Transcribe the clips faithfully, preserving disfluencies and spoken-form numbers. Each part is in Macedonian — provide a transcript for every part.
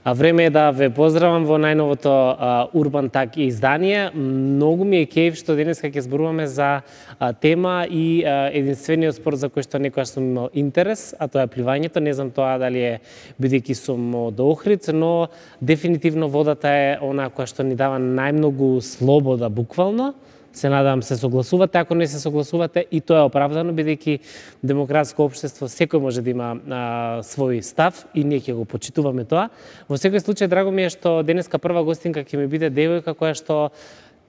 А време е да ве поздравам во најновото а, Урбан Так издание. Многу ми е кејф што денеска ќе зборуваме за а, тема и а, единствениот спорт за кој што некогаш сум имал интерес, а тоа е пливањето. Не знам тоа дали е бидејќи сум од Охрид, но дефинитивно водата е она која што ни дава најмногу слобода буквално. Се надам се согласувате, ако не се согласувате и тоа е оправдано, бидејќи демократско општество секој може да има а, свој став и ние ќе го почитуваме тоа. Во секој случај драго ми е што денеска прва гостинка ќе ми биде девојка која што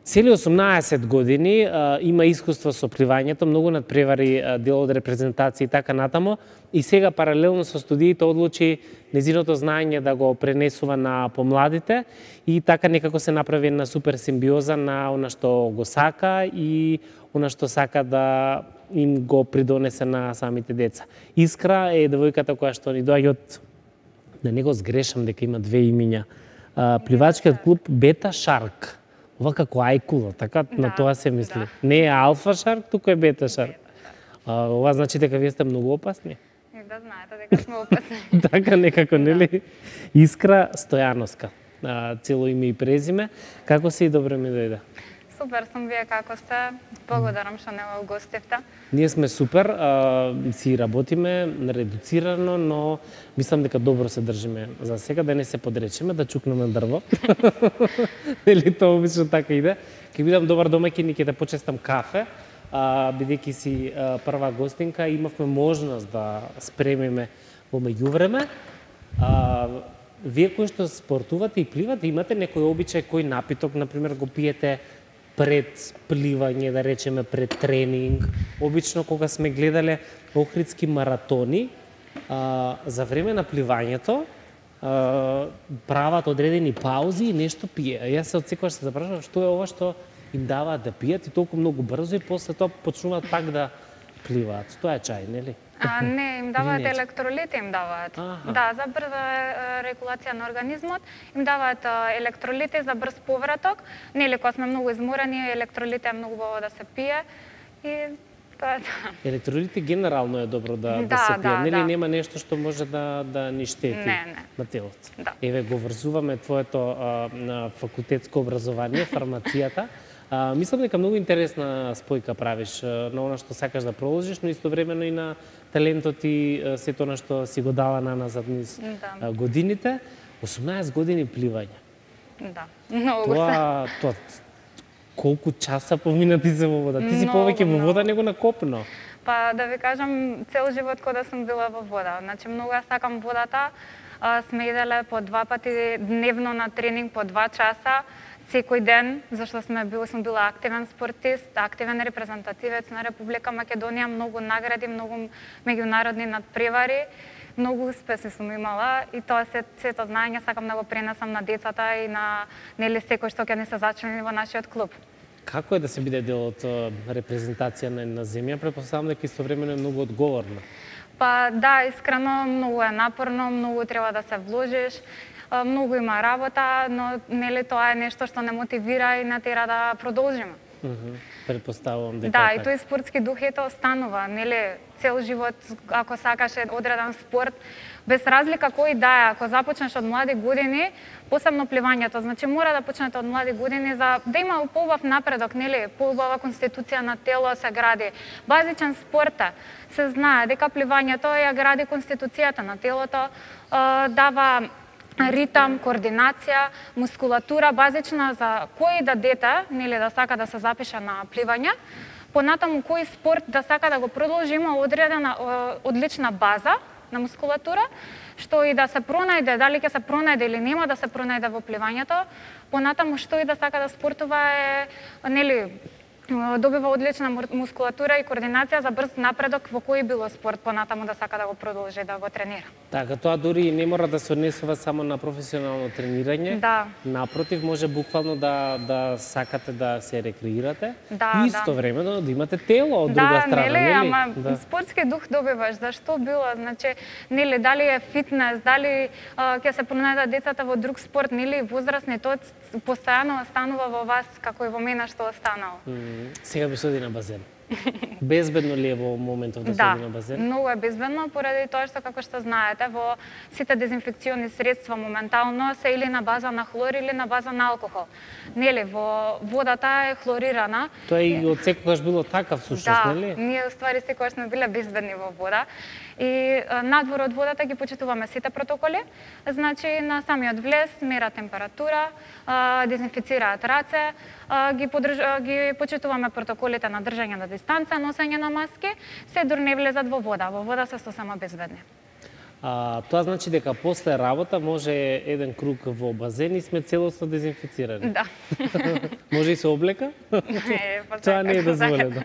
цели осумнаесет години а, има искуство со пливањето, многу надпревари а, дел од репрезентација и така натаму, и сега паралелно со студиите одлучи незиното знаење да го пренесува на помладите и така некако се направи една супер симбиоза на она што го сака и она што сака да им го придонесе на самите деца. Искра е девојката која што ни доаѓа од, да не го сгрешам дека има две имиња, а, пливачкиот клуб Бета Шарк. Ова како ајкуло, така да, на тоа се мисли. Да. Не е Алфа Шарк, туку е Бета Шарк. А, ова значи дека вие сте многу опасни. И да знаете дека сме опасни. Така некако, нели? Искра Стојановска. А, цело име и презиме. Како се и добро ми дојде? Супер сум, вие како сте? Благодарам што не го гостевте. Ние сме супер, а, си работиме редуцирано, но мислам дека добро се држиме за сега, да не се подречеме, да чукнеме дрво. Нели тоа обично така иде. Ќе бидам добар домаќин и ќе да почестам кафе, а, бидејќи си а, прва гостинка, имавме можност да спремиме во меѓувреме. А, вие кои што спортувате и пливате, имате некој обичај, кој напиток, например, го пиете пред пливање, да речеме пред тренинг? Обично кога сме гледале охридски маратони, а, за време на пливањето а, прават одредени паузи и нешто пие. Јас се одсекогаш се запрашувам што е ова што им даваат да пијат и толку многу брзо и после тоа почнуваат пак да пливаат. Тоа е чај, нели? А, не, им даваат електролити, им даваат. Аха. Да, за брза регулација на организмот, им даваат електролити за брз повраток. Нели, кога сме многу изморени, електролити е многу убаво да се пие и тоа е тоа. Електролити генерално е добро да, да, Да, се пие, да, нели да. нема нешто што може да да ни штети Не, не. на телото. Да. Еве го врзуваме твоето а, на факултетско образование, фармацијата. А, мислам дека многу интересна спојка правиш а, на она што сакаш да продолжиш, но истовремено и на талентот и а, сето она што си го дала на назад низ Да. а, годините. осумнаесет години пливање. Да, многу се. Тоа, тоа, колку часа поминати се во вода? Ти си Многу, повеќе во вода многу. него на копно. Па да ви кажам, цел живот кога да сум била во вода. Значи многу ја сакам водата. А, сме иделе по два пати дневно на тренинг по два часа, секој ден, зашто сме бил сум била активен спортист, активен репрезентативец на Република Македонија, многу награди, многу меѓународни надпревари. Многу успеси сум имала и тоа се сето знаење сакам да го пренесам на децата и на нели секој што ќе не се зачлени во нашиот клуб. Како е да се биде дел од а, репрезентација на една земја? Претпоставам дека истовремено е многу одговорно. Па да, искрено, многу е напорно, многу треба да се вложиш, а, многу има работа, но нели тоа е нешто што не мотивира и не тера да продолжиме. Мгм. Предпоставувам дека Да, е и така. тој спортски дух ето останува, нели, цел живот, ако сакаш одреден спорт, без разлика кој да е, ако започнеш од млади години, посебно пливањето, значи мора да почнете од млади години за да има поубав напредок, нели, поубава конституција на тело се гради. Базичен спорт е, се знае дека пливањето ја гради конституцијата на телото, а, дава ритам, координација, мускулатура базична за кој да дете, нели да сака да се запише на пливање, понатаму кој спорт да сака да го продолжи, има одредена одлична база на мускулатура, што и да се пронајде, дали ќе се пронајде или нема да се пронајде во пливањето, понатаму што и да сака да спортува е, нели, добива одлична мускулатура и координација за брз напредок во кој било спорт понатаму да сака да го продолжи да го тренира. Така, тоа дури не мора да се однесува само на професионално тренирање. Да. Напротив, може буквално да да сакате да се рекреирате Да, и истовремено да имате тело од друга Да, страна, нели, нели? ама Да. спортски дух добиваш, зашто било, значи, нели, дали е фитнес, дали а, ќе се пронајдат децата во друг спорт, нели, возрастни, тоа постојано останува во вас, како и во мене што останало. М, Сега би се оди на базен. Безбедно ли е во моментов да се оди на базен? Да, многу е безбедно, поради тоа што, како што знаете, во сите дезинфекциони средства моментално се или на база на хлор или на база на алкохол. Нели, во водата е хлорирана. Тоа и од секогаш било така всушност, да, нели? Да, ние уствари секогаш сме биле безбедни во вода. И надвор од водата ги почитуваме сите протоколи. Значи, на самиот влез мера температура, дезинфицираат раце, ги, подрж... ги почитуваме протоколите на држање на дистанца, носење на маски, се дур не влезат во вода. Во вода се сосема безбедни. А, тоа значи дека после работа може еден круг во базен и сме целосно дезинфицирани. Да. Може и со облека? Не, тоа не е дозволено.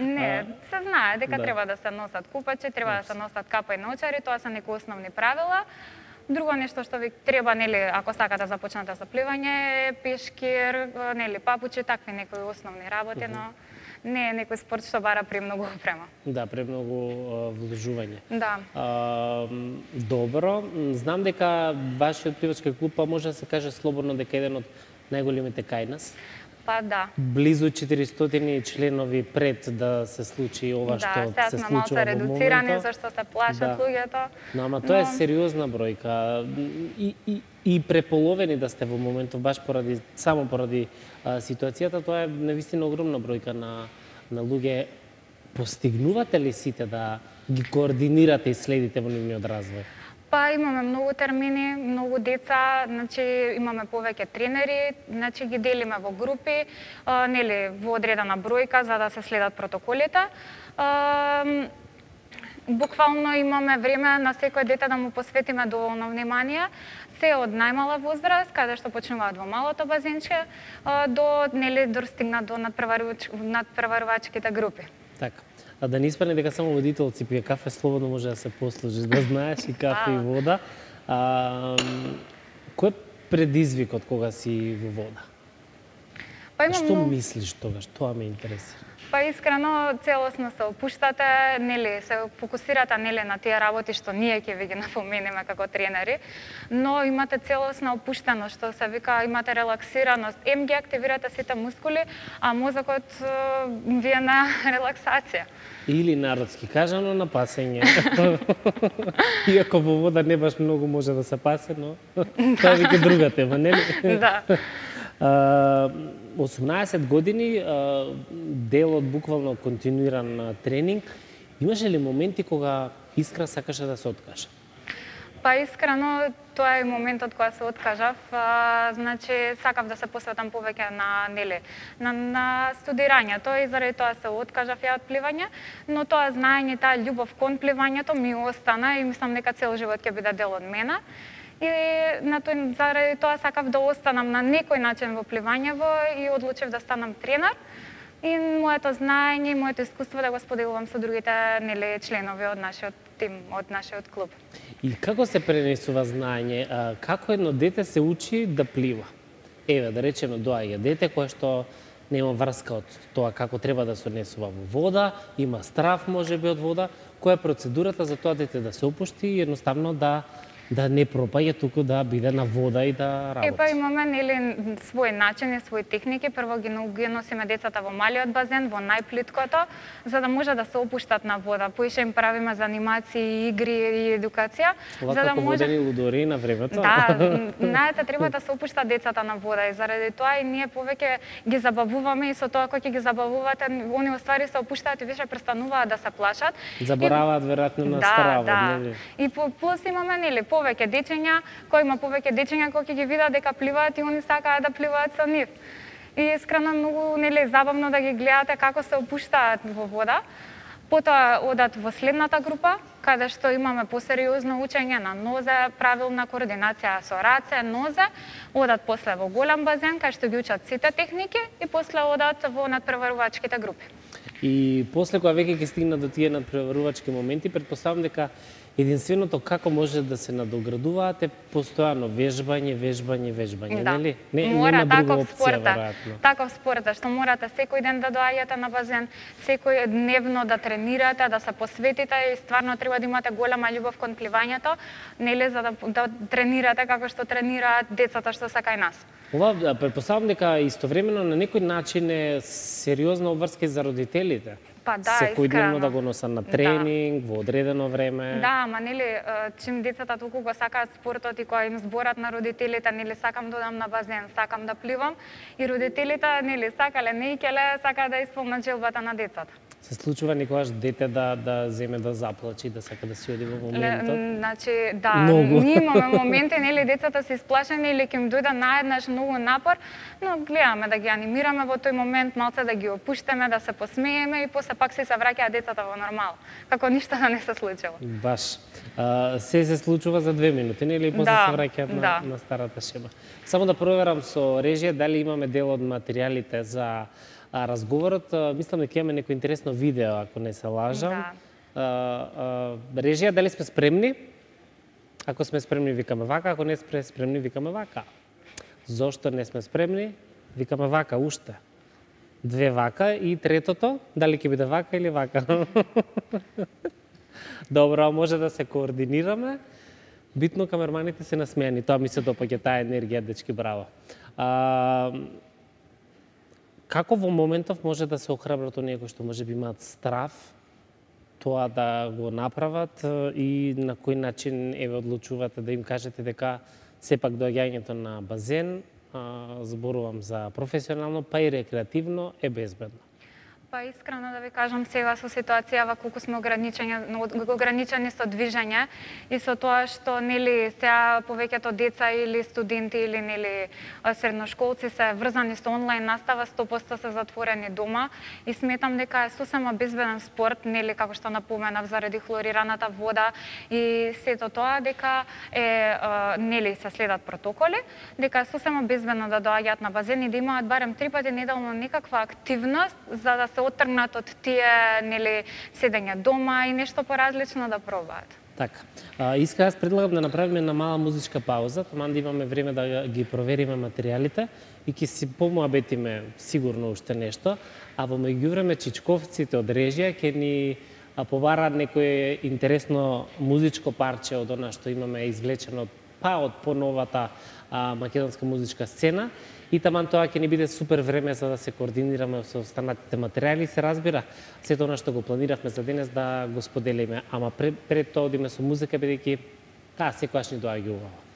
Не, се знае дека да. треба да се носат купачи, треба да се носат капа и научари, тоа се некои основни правила. Друго нешто што ви треба, нели, ако сакате да започнете со пливање, е пешкир, нели, папучи, такви некои основни работи, но не е некој спорт што бара премногу опрема. Да, премногу вложување. Да. А, добро, знам дека вашиот пливачки клуб, па може да се каже слободно дека еден од најголемите кај нас. Па да. Близу четиристотини членови пред да се случи ова да, што се случува во моментот. Да, сега сме малку редуцирани зашто се плашат да. луѓето. Но ама тоа но... е сериозна бројка и, и, и преполовени да сте во моментот баш поради само поради а, ситуацијата, тоа е навистина огромна бројка на на луѓе. Постигнувате ли сите да ги координирате и следите во нивниот развој? Па имаме многу термини, многу деца, значи имаме повеќе тренери, значи ги делиме во групи, а, нели во одредена бројка за да се следат протоколите. А, буквално имаме време на секој дете да му посветиме доволно внимание, се од најмала возраст, каде што почнуваат во малото базенче, до нели достигнат до надпреварувачките групи. Така. А да не испадне дека само водителци пие кафе, слободно може да се послужиш, да знаеш и кафе и вода. А, кој е предизвикот кога си во вода? Па имам Што много... мислиш тогаш? Тоа ме интересира. Па искрено целосно се опуштате, нели се фокусирате нели на тие работи што ние ќе ви ги напоменеме како тренери, но имате целосна опуштеност, што се вика, имате релаксираност, ем ги активирате сите мускули, а мозокот ви е на релаксација. Или народски кажано на пасење. Иако во вода не баш многу може да се пасе, но тоа е веќе друга тема, нели? Да. осумнаесет години, дел од буквално континуиран тренинг. Имаше ли моменти кога искра сакаше да се откаже? Па искрено, тоа е моментот кога се откажав. А, значи, сакав да се посветам повеќе на, нели, на, на студирањето и заради тоа се откажав ја од пливање, но тоа знаење, таа љубов кон пливањето ми остана и мислам дека цел живот ќе биде дел од мене. И на тој, заради тоа сакав да останам на некој начин во пливањево и одлучив да станам тренер. И моето знаење, моето искуство да го споделувам со другите, нели, членови од нашиот тим, од нашиот клуб. И како се пренесува знаење? Како едно дете се учи да плива? Еве, да речеме, доаѓа дете кое што нема врска од тоа како треба да се однесува во вода, има страв можеби од вода. Која е процедурата за тоа дете да се опушти и едноставно да да не пропаѓа, туку да биде на вода и да работи? Епа имаме нели свој начин и свои техники. Прво ги носиме децата во малиот базен, во најплиткото, за да може да се опуштат на вода. Поише им правиме занимации, игри и едукација. Ова за да како може... водени лудори на времето. Да, знаете, треба да се опуштат децата на вода и заради тоа и ние повеќе ги забавуваме и со тоа кој ќе ги забавувате, они оствари се опуштаат и више престануваат да се плашат. Забораваат веројатно на стравот, да, нели? И по плюс имаме нели повеќе дечиња, кои има повеќе дечиња кои ќе ги видат дека пливаат и они сакаат да пливаат со нив. И искрено многу нели забавно да ги гледате како се опуштаат во вода. Потоа одат во следната група, каде што имаме посериозно учење на нозе, правилна координација со раце, нозе, одат после во голем базен кај што ги учат сите техники и после одат во надпреварувачките групи. И после кога веќе ќе стигна до тие надпреварувачки моменти, претпоставам дека единственото како може да се надоградуваат е постојано вежбање, вежбање, вежбање, Да. нели? Не, Мора нема друга таков опција, спорта, веројатно. таков спорта, што морате секој ден да доаѓате на базен, секој дневно да тренирате, да се посветите и стварно треба да имате голема љубов кон пливањето, нели за да, да тренирате како што тренираат децата што се кај нас. Ова, да, претпоставам дека истовремено на некој начин е сериозна обврска и за родителите. Па да, Секој искрено. дневно да го носат на тренинг, да. Во одредено време. Да, ама нели чим децата толку го сакаат спортот и кога им зборат на родителите, нели сакам да одам на базен, сакам да пливам, и родителите нели сакале, не икеле, сакаат да исполнат желбата на децата. Се случува никогаш дете да да земе да заплаче, да сака да си оди во моментот? Ле, значи, да, Многу. ние имаме моменти, нели, децата се исплашени или ќе им дојде наеднаш многу напор, но гледаме да ги анимираме во тој момент, малце да ги опуштиме, да се посмееме и после пак се се враќаат децата во нормал, како ништо да не се случило. Баш. А, се се случува за две минути, нели, и после Да, се враќаат на, да. на старата шема. Само да проверам со режија дали имаме дел од материјалите за а, разговорот. А, мислам дека имаме некој интересно видео, ако не се лажам. Да. А, а, режија, дали сме спремни? Ако сме спремни, викаме вака, ако не сме спремни, викаме вака. Зошто не сме спремни? Викаме вака, уште. Две вака и третото, дали ќе биде вака или вака? Добро, може да се координираме. Битно камерманите се насмејани, тоа ми се допаѓа, таа енергија, дечки, браво. А, како во моментов може да се охрабрат оние кои што може би имаат страв тоа да го направат и на кој начин еве одлучувате да им кажете дека сепак доаѓањето на базен, а, зборувам за професионално, па и рекреативно, е безбедно? Па искрено да ви кажам, сега со ситуацијава колку сме ограничени, ограничени со движење и со тоа што нели сега повеќето деца или студенти или нели средношколци се врзани со онлайн настава, сто проценти се затворени дома и сметам дека е сосема безбеден спорт, нели како што напоменав заради хлорираната вода и сето тоа дека е нели се следат протоколи, дека е сосема безбедно да доаѓаат на базен и да имаат барем три пати неделно некаква активност за да се отргнат од тие нели седење дома и нешто поразлично да пробаат. Така. А, иска, јас предлагам да направиме една мала музичка пауза, таман да имаме време да ги провериме материјалите и ќе си помуабетиме сигурно уште нешто, а во меѓувреме чичковците од режија ќе ни побараат некое интересно музичко парче од она што имаме извлечено па од поновата а, македонска музичка сцена. И таман тоа ќе ни биде супер време за да се координираме со останатите материјали, се разбира, сето она што го планиравме за денес да го споделиме, ама пред, пред тоа одиме со музика, бидејќи таа секогаш ни доаѓа убаво.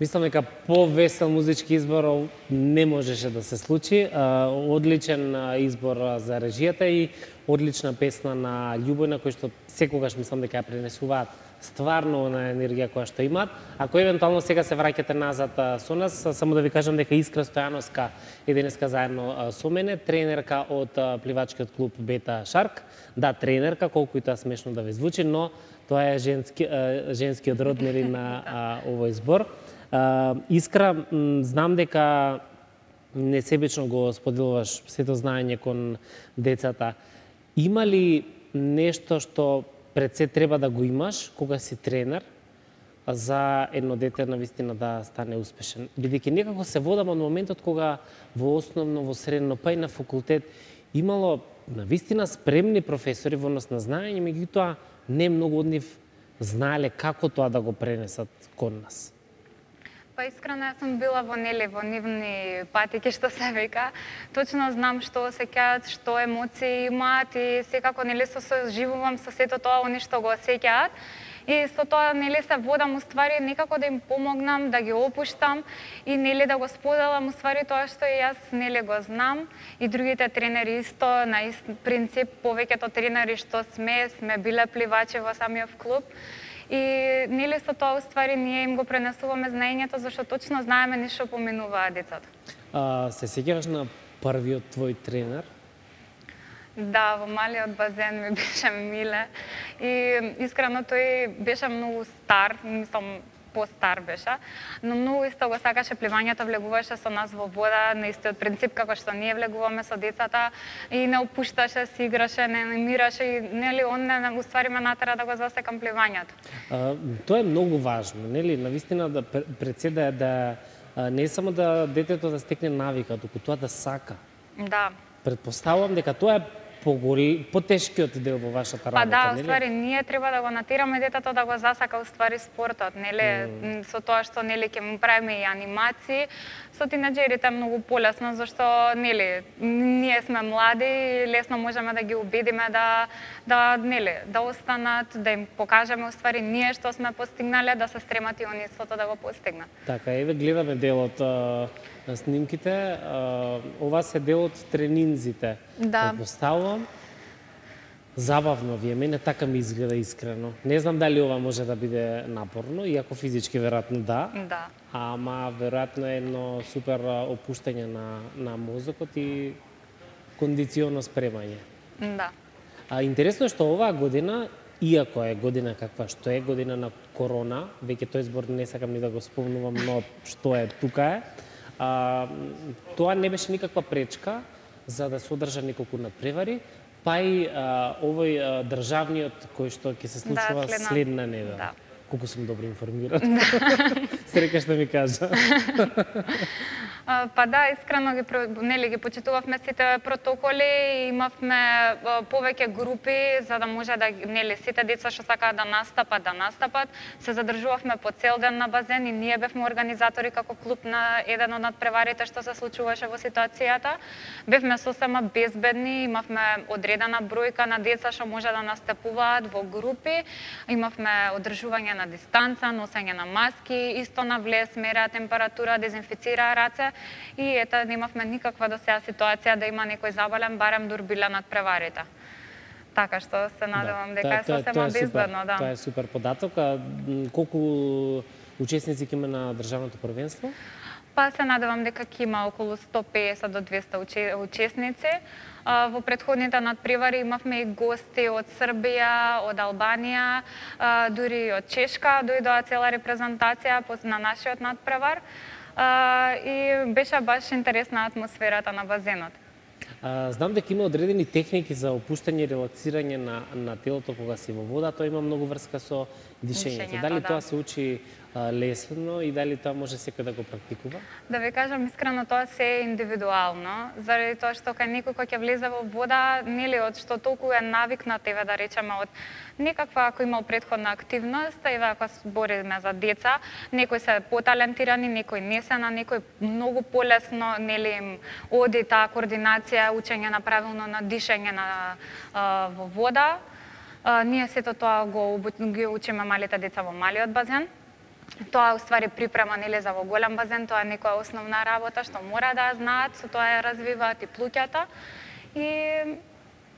Мислам дека повесел музички избор не можеше да се случи. Одличен избор за режијата и одлична песна на Љубојна, кој што секогаш мислам дека ја пренесуваат стварно на енергија која што имаат. Ако евентуално сега се враќате назад со нас, само да ви кажам дека Искра Стојановска е денеска заедно со мене, тренерка од пливачкиот клуб Бета Шарк. Да, тренерка, колку и тоа смешно да ви звучи, но тоа е женски, женскиот род нели на а, овој збор. Uh, Искра, знам дека несебично го споделуваш сето знаење кон децата. Има ли нешто што пред се треба да го имаш кога си тренер за едно дете навистина да стане успешен? Бидејќи некако се водам од моментот кога во основно, во средно, па и на факултет имало навистина спремни професори во однос на знаење, меѓутоа не многу од нив знаеле како тоа да го пренесат кон нас. Па искрено јас сум била во нели во нивни патеки што се века. Точно знам што осеќаат, што емоции имаат и секако нели се соживувам со сето тоа они што го осеќаат. И со тоа нели се водам уствари некако да им помогнам, да ги опуштам и нели да го споделам уствари тоа што и јас нели го знам и другите тренери исто на ист принцип, повеќето тренери што сме, сме биле пливачи во самиот клуб. И нели со тоа уствари ние им го пренесуваме знаењето зашто точно знаеме ништо поминуваат децата. А, се сеќаваш на првиот твој тренер? Да, во малиот базен ми беше миле и искрено тој беше многу стар, мислам постар беше, но многу исто го сакаше пливањето, влегуваше со нас во вода на истиот принцип како што ние влегуваме со децата и не опушташе, си играше, не немираше и нели он не уствари ме натера да го засекам пливањето. А, тоа е многу важно, нели, навистина да пред се да, да не само да детето да стекне навика, туку тоа да сака. Да. Предпоставувам дека тоа е потешкиот дел во вашата работа, па да, нели? уствари ние треба да го натераме детето да го засака уствари спортот, нели? Mm. Со тоа што нели ќе му правиме и анимации, со тинеџерите е многу полесно зашто нели ние сме млади и лесно можеме да ги убедиме да да нели да останат, да им покажеме уствари ние што сме постигнале, да се стремат и они истото да го постигнат. Така, еве гледаме дел од на снимките, а, ова се дел од тренинзите. Да. Предпоставувам, забавно ви е, мене така ми изгледа искрено. Не знам дали ова може да биде напорно, иако физички веројатно да. Да. Ама веројатно е едно супер опуштање на на мозокот и кондиционо спремање. Да. А интересно е што оваа година, иако е година каква што е, година на корона, веќе тој збор не сакам ни да го спомнувам, но што е, тука е. А, тоа не беше никаква пречка за да се одржа неколку надпревари, па и а, овој а, државниот кој што ќе се случува да, следна, следна недела. Да. Колку сум добро информиран. Срека што ми кажа. Па да, искрено ги нели ги почитувавме сите протоколи и имавме повеќе групи за да може да нели сите деца што сакаат да настапат, да настапат. Се задржувавме по цел ден на базен и ние бевме организатори како клуб на еден од надпреварите што се случуваше во ситуацијата. Бевме сосема безбедни, имавме одредена бројка на деца што може да настапуваат во групи. Имавме одржување на дистанца, носење на маски, исто на влез, мереа температура, дезинфицираа раце. И ета немавме никаква до сега ситуација да има некој заболен, барем дур биле надпреварите. Така што се надевам да, дека е сосема безбедно, да. Тоа е супер податок. А колку учесници ќе има на државното првенство? Па се надевам дека ќе има околу сто песет до двесте учесници. Во претходните надпревари имавме и гости од Србија, од Албанија, дури и од Чешка дојдоа цела репрезентација на нашиот надпревар. И беше баш интересна атмосферата на базенот. А, знам дека има одредени техники за опуштање и релаксирање на, на телото кога си во вода, тоа има многу врска со дишењето. Дали да. Тоа се учи а, лесно и дали тоа може секој да го практикува? Да ви кажам искрено, тоа се е индивидуално, заради тоа што кај некој кој ќе влезе во вода, нели од што толку е навикнат, еве да речеме од некаква ако имал претходна активност, еве ако збориме за деца, некои се поталентирани, некои не се, на некои многу полесно нели им оди таа координација, учење на правилно на дишење на а, во вода. А, ние сето тоа го ги учиме малите деца во малиот базен. Тоа уствари припрема нели за во голем базен, тоа е некоја основна работа што мора да знаат, со тоа ја развиваат и плуќата. И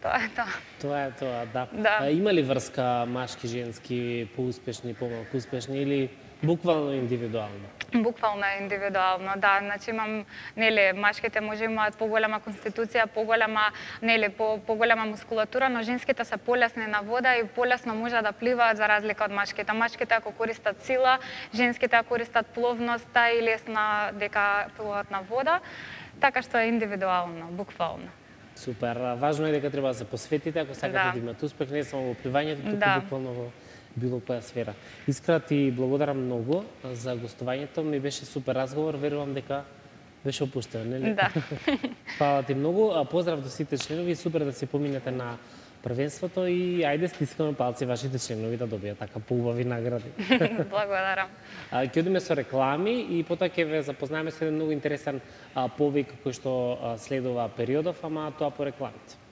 тоа е тоа. Тоа е тоа, да. да. А, има ли врска машки, женски, поуспешни, помалку успешни или буквално индивидуално? Буквално индивидуално, да. Значи имам, нели, машките може имаат поголема конституција, поголема, нели, по поголема мускулатура, но женските се полесни на вода и полесно може да пливаат за разлика од машките. Машките ако користат сила, женските ако користат пловноста и лесна дека плуваат на вода, така што е индивидуално, буквално. Супер. Важно е дека треба да се посветите ако сакате да, да имате успех не само во пливањето, туку да. Буквално во било која сфера. Искра ти благодарам многу за гостувањето, ми беше супер разговор, верувам дека беше опуштено, нели? Да. Фала ти многу, а поздрав до сите членови, супер да се поминете на првенството и ајде стискаме палци вашите членови да добијат така поубави награди. Благодарам. Ќе одиме со реклами и потоа ќе ве запознаеме со еден многу интересен повик кој што следува периодов, ама тоа по рекламите.